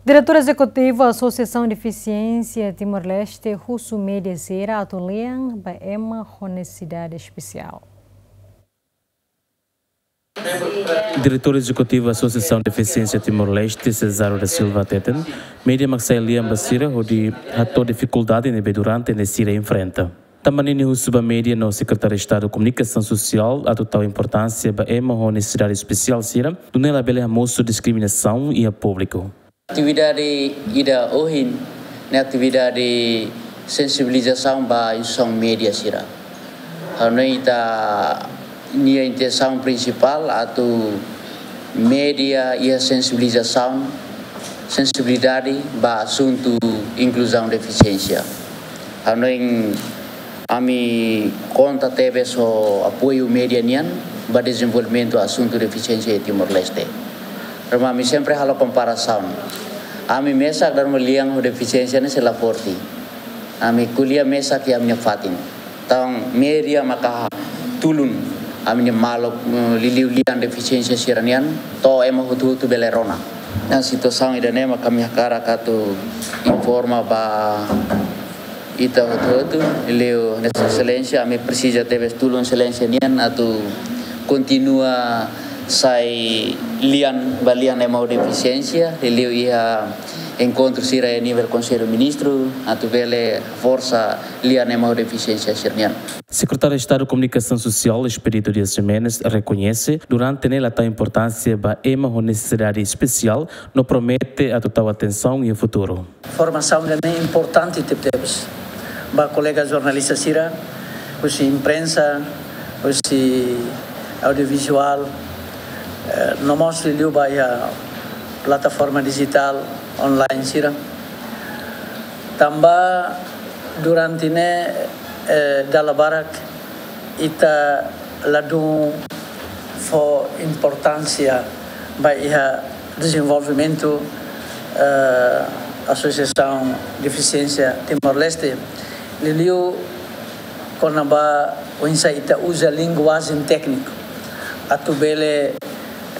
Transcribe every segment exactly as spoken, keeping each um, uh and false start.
Diretór Ezekutivu Asosiasaun Defisiénsia Timor-Leste husu média sira atu lian ba ema ho nesesidade espesiál. Diretór Ezekutivu Asosiasaun Defisiénsia Timor-Leste, Cesário da Silva hateten, média mak sai lian ba sira hodi hato'o difikuldade ne'ebé durante ne'e sira enfrenta. Tanba ne'e nia husu ba média no Sekretáriu Estadu Komunikasaun Sosiál atu tau importánsia ba ema ho nesesidade espesiál sira, nune'e labele hamosu diskriminasaun iha públiku. Atividade ida ohin ne'e atividade sensibilizasaun ba instituisaun média sira. Ha'u hanoin ita-nia intensaun prinsipál atu média iha sensibilizasaun, sensibilidade ba asuntu inkluzaun defisiénsia. Ha'u hanoin ami konta tebes ho apoiu média nian ba dezenvolvimentu asuntu defisiénsia iha Timor-Leste. Tanba ami sempre halo komparasaun. Ami mesak dala ruma lian ho defisiénsia ne'e sei la forte. Ami ko'alia mesak iha ami-nia fatin. Entaun média maka tulun ami-nia maluk, eh, liuliu lian defisiénsia sira-nian, to'o ema hotu-hotu bele rona. Iha situasaun ida-ne'e maka ami hakarak atu informa ba ita hotu-hotu, liuliu hanesan Exelénsia, ami presiza tebes tulun Exelénsia nian atu kontinua sai lian ba lian ema ho defisiénsia, liuliu iha enkontru sira iha nivel Konsellu Ministru, atu bele forsa lian ema ho defisiénsia sira-nian. Sekretáriu Estadu Komunikasaun Sosiál, Expedito Dias Ximenes, rekoñese durante ne'e la tau importánsia ba ema ho nesesidade espesiál, no promete atu tau atensaun iha futuru. Formasaun ida-ne'e importante tebetebes ba kolega jornalista sira, husi imprensa, husi audiovizuál, eh, no mós liuliu ba iha plataforma dijitál online sira. Tanba durante ne'e, eh, dala barak ita ladún fó importánsia ba iha dezenvolvimentu, eh, Asosiasaun Defisiénsia Timor-Leste, liuliu kona-ba oinsá ita uza linguajen tékniku atu bele,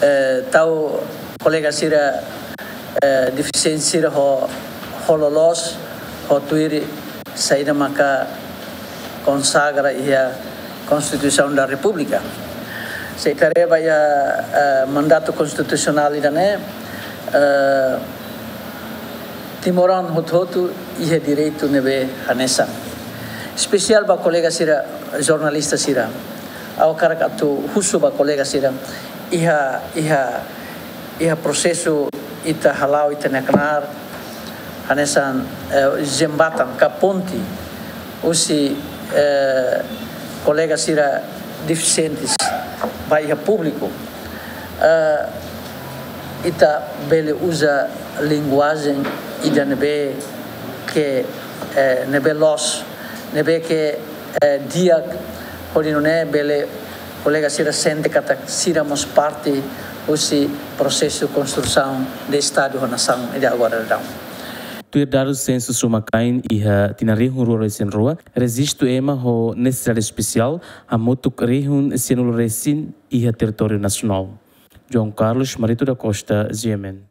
eh, tau kolega sira, eh, defisiente sira ho, ho loloos, ho tuir saida maka konsagra iha Konstituisaun da Repúblika. Se ita haree ba iha, eh, mandatu konstitusionál ida-ne'e, eh, timoroan hotu-hotu iha direitu ne'ebé hanesan. Espesiál ba kolega sira, jornalista sira. Ha'u hakarak atu husu ba kolega sira, iha, iha, iha prosesu ita hala'o ita-nia knaar, hanesan, eh, jembatan ka ponte husi, eh, kolega sira defisientes ba iha públiku. Eh, ita bele uza linguajen ida ne'ebé ke, eh, ne'ebé loos, ne'ebé ke, eh, di'ak, hodi nune'e bele kolega sira sente katak sira mós parte husi prosesu konstrusaun de Estadu ho nasaun ida agora daudaun. Tuir dadus sensus umakain iha tinan rihun rua resin rua, rejistu ema ho nesesidade espesiál hamutuk rihun sianulu resin iha territóriu nasionál. João Carlos Marito da Costa, G M N.